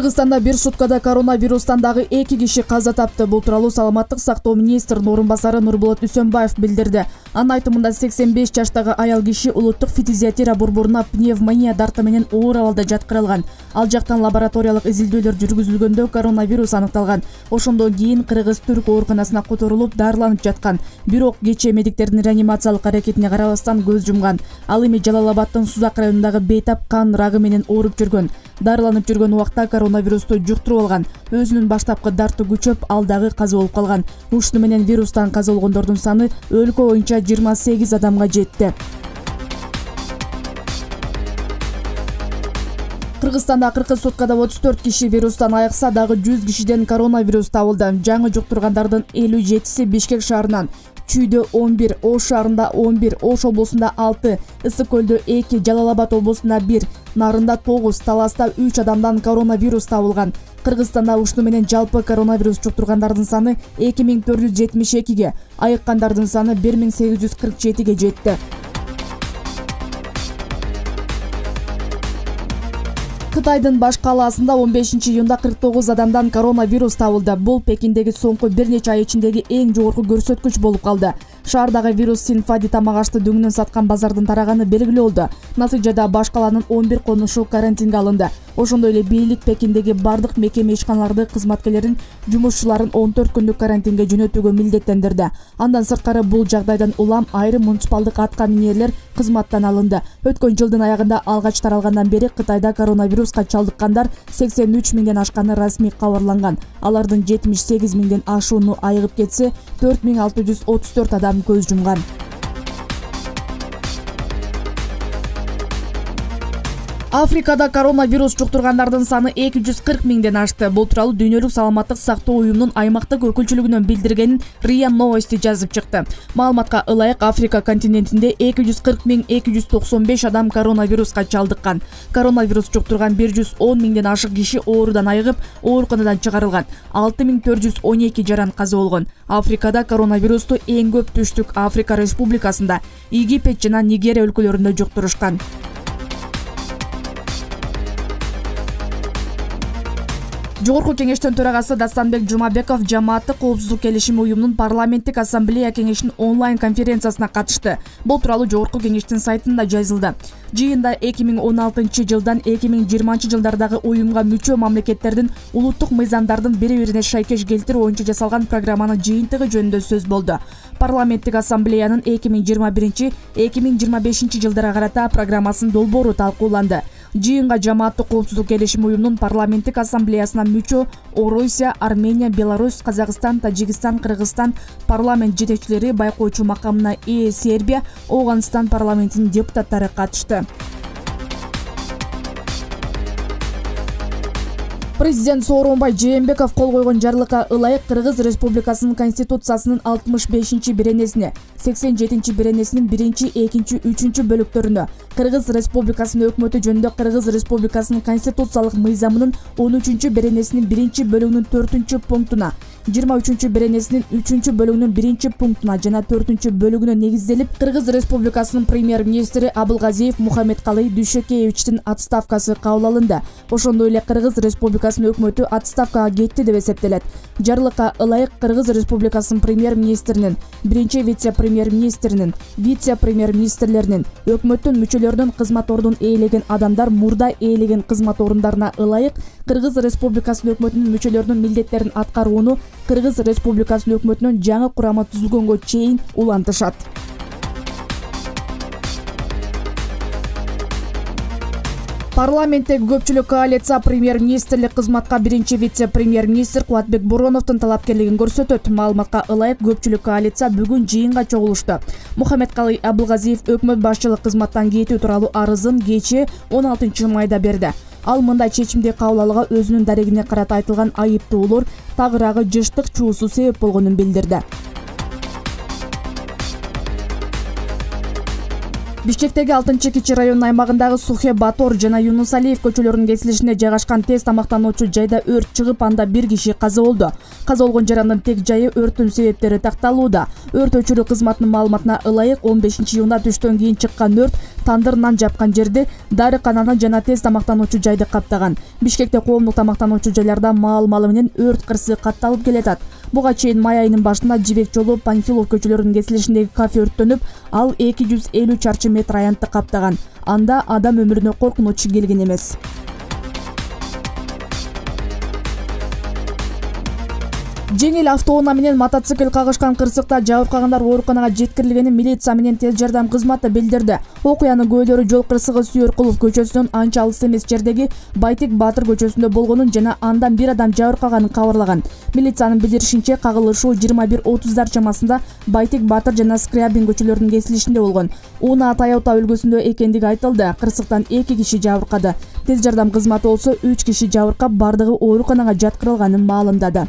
Кыргызстанда бир суткада коронавирустан дагы 2 киши каза тапты. Бул тууралуу саламаттык сактоо министринин орун басары Нурболот Үсөнбаев билдирди. Анын айтымында 85 жаштагы аял киши улуттук фтизиатрия борборуна пневмония дарты менен оор абалда жаткырылган. Ал жактан лабораториялык изилдөөлөр жүргүзүлгөндө коронавирус аныкталган. Ошондон кийин Кыргыз-Түрк ооруканасына которулуп дарыланып жаткан. Бирок кечээ медиктердин реанимациялык аракетине карабастан көз жумган. Ал эми Жалал Абаддын Сузак районундагы бейтап кан рагы менен ооруп жүргөн. Дарыланып жүргөн убакта коронавирусту жуктуруп алган. Өзүнүн баштапкы дарты күчөп, ал дагы каза болуп калган. Ушуну менен вирустан каза болгондордун саны өлкө боюнча 28 адамга жетти. Кыргызстанда акыркы суткада 34 киши вирустан айыкса, дагы 100 кишиден коронавирус табылды. Жаңы жуктургандардын 57си Бишкек шаарынан, Чүйдө 11, Ош шаарында 11, Ош облусунда 6, Ысык көлдө 2, Жалал Абад облусунда 1, Нарында 9, Таласта 3 адамдан коронавирус табылган. Кыргызстанда ушуну менен жалпы коронавирус жуктургандардын саны 2472ге, айыккандардын саны 1847ге жетти. Кытайдын баш калаасында 15-июнда 49 адамдан коронавирус табылды. Бул Пекиндеги соңку бир нече ай ичиндеги эң жогорку көрсөткүч болуп калды. Шаардагы вирус Синфади тамак ашты дөңүнөн саткан базардын тараганы белгилүү болду. Натыйжада баш калаанын 11 конушу карантинге алынды. Ошондой эле бийлик Пекиндеги бардык мекеме ишканаларды кызматкерлерин жумушчуларын 14 күндүк карантинге жөнөтүүгө милдеттендирди. Андан сырткары бул жагдайдан улам айрым муниципалдык атка минерлер кызматтан алынды. Өткөн жылдын аягында алгач таралгандан бери Кытайда коронавируска чалдыккандар 83 миңден ашканы расмий кабарланган. Алардын 78 миңден ашууну айыгып кетсе, 4634 адам көз жумган. Африкада коронавирус жуктургандардын саны 240 миңден ашты. Бул тууралуу Дүйнөлүк саламаттык сактоо уюмунун аймактык өкүлчүлүгүнөн билдиргенин РИА Новости жазып чыкты. Маалыматка ылайык, Африка континентинде 240.295 адам коронавируска чалдыккан. Коронавирус жуктурган 110 миңден ашык киши оорудан айыгып, ооруканадан чыгарылган. 6412 жаран каза болгон. Африкада коронавирусту эң көп Түштүк Африка Республикасында, Египет жана Нигерия өлкөлөрүндө жуктурушкан. Жогорку кеңештин төрагасы Дастанбек Жумабеков жамааттык коопсуздук келишими уюмунун парламенттик ассамблея кеңешинин онлайн конференциясына катышты. Бул тууралуу жогорку кеңештин сайтында жазылды. Жыйында 2016 жылдан 2020 жылдардагы уюмга мүчө мамлекеттердин улуттук мыйзамдардын бири-бирине шайкеш келтирүү боюнча жасалган программанын жыйынтыгы жөнүндө сөз болду. Парламенттик ассамблеянын 2021-2025 жылдарга карата программасынын долбоору талкууланды. Жыйынга жамааттык коопсуздук келишими уюмунун парламенттик ассамблеясына мүчө Орусия, Армения, Беларусь, Казакстан, Тажикстан, Кыргызстан парламент жетекчилери, байкоочу макамына ээ Сербия, Ооганстан парламентинин депутаттары катышты. Президент Сооронбай Жээнбеков кол койгон жарлыкка ылайык Кыргыз Республикасынын Конституциясынын 65-беренесине, 87-беренесинин 1, 2, 3 бөлүктөрүнө, Кыргыз Республикасынын өкмөтү жөнүндө Кыргыз Республикасынын конституциялык мыйзамынын 13-беренесинин 1 бөлүгүнүн 4 пунктуна, 23-беренесинин 3 бөлүгүнүн 1 пунктуна жана 4 бөлүгүнө негизделип, Кыргыз Республикасынын премьер-министри Абылгазиев Мухаммедкалый Дүйшөкеевичтин отставкасы кабыл алынды. Ошондой эле Кыргыз Республикасынын өкмөтү отставкага кетти деп эсептелет. Жарлыкка ылайык Кыргыз Республикасынын премьер-министринин, биринчи вице-премьер-министринин, вице-премьер-министрлеринин, өкмөттүн мүчөлөрүнүн кызмат ордун ээлеген адамдар мурда ээлеген кызмат орундарына ылайык Кыргыз Республикасынын өкмөтүнүн мүчөлөрүнүн милдеттерин аткарууну Кыргыз Республикасынын өкмөтүнүн жаңы курамы түзүлгөнгө чейин улантышат. Парламенттеги көпчүлүк коалиция премьер-министрлик кызматка биринчи вице-премьер-министр Кубатбек Бороновдун талапкерлигин көрсөтөт. Маалыматка ылайык көпчүлүк коалиция бүгүн жыйынга чогулушту. Мухаммедкалый Абылгазиев өкмөт башчылык кызматтан кетүү тууралуу арызын кечээ 16 майда берди. Ал мындай чечимди кабыл алууга өзүнүн дарегине карата айтылган айыптоолор тагыраагы жыштык чуусу себеп болгонун билдирди. Бишкектеги 6-Кичи районунун аймагындагы Сухе Батор жана Юнус Алиев көчөлөрүнүн кесилишинде жайгашкан тез тамактануучу жайда өрт чыгып, анда 1 киши каза болду. Каза болгон жарандын тек жайы өрттүн себептери такталууда. Өрт өчүрүү кызматынын маалыматына ылайык 15 июнда түштөн кийин чыккан өрт тандыр нан жапкан жерди, дарыкананы жана тез тамактануучу жайды каптаган. Бишкекте коомдук тамактануучу жайларда маал-малы менен өрт кырсыгы катталып келатат. Буга чейин май айынын башында Жибек жолу, Панфилов көчөлөрүнүн кесилишиндеги кафе өрттөнүп, ал 250 чарчы метр аянтты каптаган. Анда адам өмүрүнө коркунуч келген эмес. Жеңил автоунаа менен мотоцикл кагышкан кырсыкта жабыркагандар ооруканага жеткирилгенин милиция менен тез жардам кызматы билдирди. Окуянын күбөлөрү жол кырсыгы Сүйөркулов көчөсүнөн анча алыс эмес жердеги Байтек Батыр көчөсүндө болгонун жана андан бир адам жабыркаганын кабарлаган. Милициянын билдиришинче, кагылышуу 21:30 чамасында Байтек Батыр жана Скрябин көчөлөрүнүн кесилишинде болгон. Унаа Toyota үлгүсүндө экендиги айтылды. Кырсыктан 2 киши жабыркады. Тез жардам кызматы болсо 3 киши жабыркап, бардыгы ооруканага жаткырылганын маалымдады.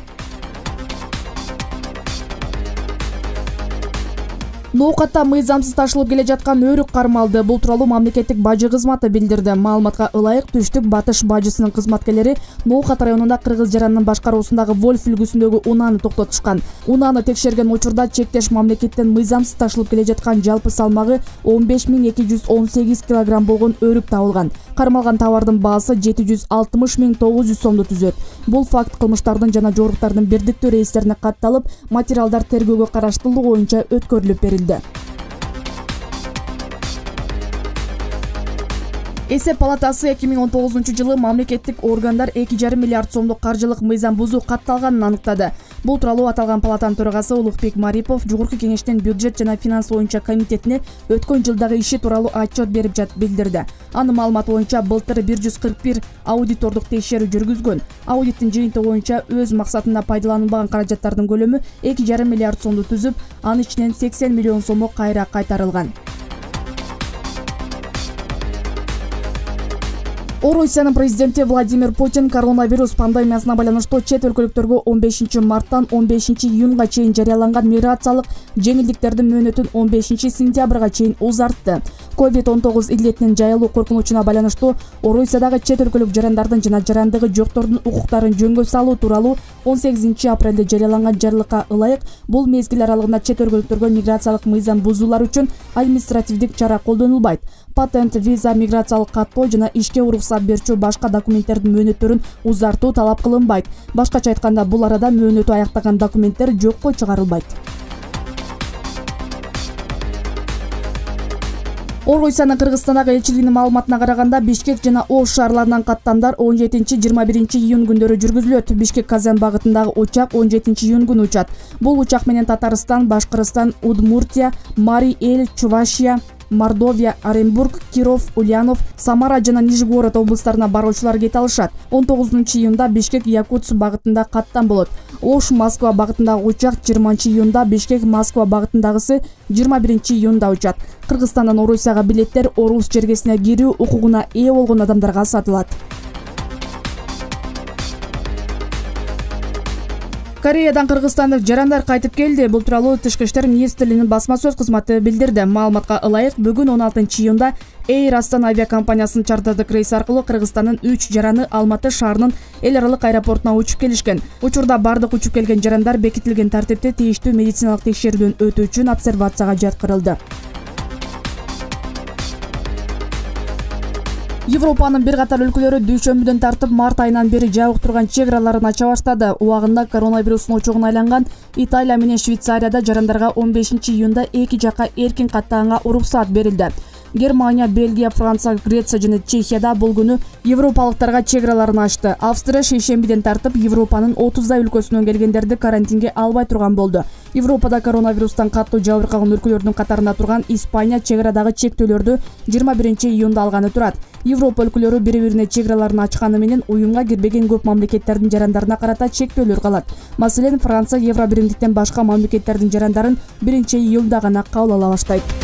Ноокатта мыйзамсыз ташылып келе жаткан өрүк кармалды. Бул тууралуу мамлекеттик бажы кызматы билдирди. Маалыматка ылайык Түштүк Батыш бажысынын кызматкерлери Ноокат районунда кыргыз жаранынын башкаруусундагы Вольф үлгүсүндөгү унааны токтотушкан. Унааны текшерген учурда чектеш мамлекеттен мыйзамсыз ташылып келе жаткан жалпы салмагы 15218 килограмм болгон өрүк табылган. Кармалган товардын баасы 760.900 сомду түзөт. Бул факт кылмыштардын жана жоруктардын бирдиктүү рейстерине катталып, материалдар тергөөгө караштуулугу боюнча өткөрүлүп берилди. Эсеп палатасы 2019 мамлекеттик органдар 2,5 миллиард сомдук каржылык мыйзам бузуу катталганын аныктады. Бул тууралуу аталган палатанын төрагасы Улукбек Марипов Жогорку кеңештин бюджет жана финанс боюнча комитетине өткөн жылдагы иши тууралуу отчет берип билдирди. Анын маалыматы боюнча былтыр 141 аудитордук текшерүү жүргүзгөн. Аудиттин жыйынтыгы боюнча өз максатында пайдаланылбаган каражаттардын көлөмү 2,5 миллиард сомду түзүп, анын ичинен 80 миллион сому кайра кайтарылган. Орусиянын президенти Владимир Путин коронавирус пандемиясына байланыштуу чет өлкөлүктөргө 15 марттан 15 июнга чейин жарыяланган миграциялык жеңилдиктердин мөөнөтүн 15 сентябрга чейин узартты. COVID-19 илдетинин жайылуу коркунучуна байланыштуу Орусиядагы чет өлкөлүк жарандардын жана жарандыгы жоктордун укуктарын жөнгө салуу тууралуу 18 апрелде жарыяланган жарлыкка ылайык бул мезгил аралыгында чет өлкөлүктөргө миграциялык мыйзам бузуулар үчүн административдик чара колдонулбайт. Патент, виза, миграциялык каттоо жана ишке уруксат берүүчү башка документтердин мөөнөттөрүн узартуу талап кылынбайт. Башкача айтканда, бул арада мөөнөтү аяктаган документтер жокко чыгарылбайт. Орусиянын Кыргызстандагы элчилигинин маалыматына караганда, Бишкек жана Ош шаарларынан каттамдар 17-21 июнь күндөрү жүргүзүлөт. Бишкек-Казан багытындагы учак 17 июнь күнү учат. Бул учак менен Татарстан, Башкырстан, Удмуртия, Мари-Эл, Чувашия, Мордовия, Оренбург, Киров, Ульянов, Самара жана Нижегород облустарына баруучулар кете алышат. 19 июнда Бишкек-Якутск багытында каттам болот. Ош-Москва багытындагы учак 20 июнда, Бишкек-Москва багытындагысы 21 июнда учат. Кыргызстандан Орусияга билеттер Орус жергесине кирүү укугуна ээ болгон адамдарга сатылат. Кореядан кыргызстандык жарандар кайтып келди. Бул тууралуу Тышкы иштер министрлигинин басма сөз кызматы билдирди. Маалыматка ылайык, бүгүн 16 июнда Air Astana авиакомпаниясынын чартардык рейси аркылуу Кыргызстандын 3 жараны Алматы шаарынын эл аралык аэропортуна учуп келишкен. Учурда бардык учуп келген жарандар бекитилген тартипте тийиштүү медициналык текшерүүдөн өтүү үчүн обсервацияга жаткырылды. Европанын бир катар өлкөлөрү дүйшөмбүдөн тартып март айынан бери жабык турган чек араларын ача баштады. Убагында коронавирустун очогуна айланган Италия менен Швейцарияда жарандарга 15 июнда эки жакка эркин каттаганга уруксаат берилди. Германия, Бельгия, Франция, Греция жана Чехияда бул күнү европалыктарга чек араларын ачты. Австрия шейшембиден тартып Европанын 30 өлкөсүнөн келгендерди карантинге албай турган болду. Европада коронавирустан каттуу жабыркаган өлкөлөрдүн катарында турган Испания чек арадагы чектөөлөрдү 21 июнда алганы турат. Европа өлкөлөрү бири-бирине чек араларын ачканы менен уюмга кирбеген көп мамлекеттердин жарандарына карата чектөөлөр калат. Маселен, Франция Евробиримдиктен башка мамлекеттердин жарандарын 1 июлда гана кабыл ала баштайт.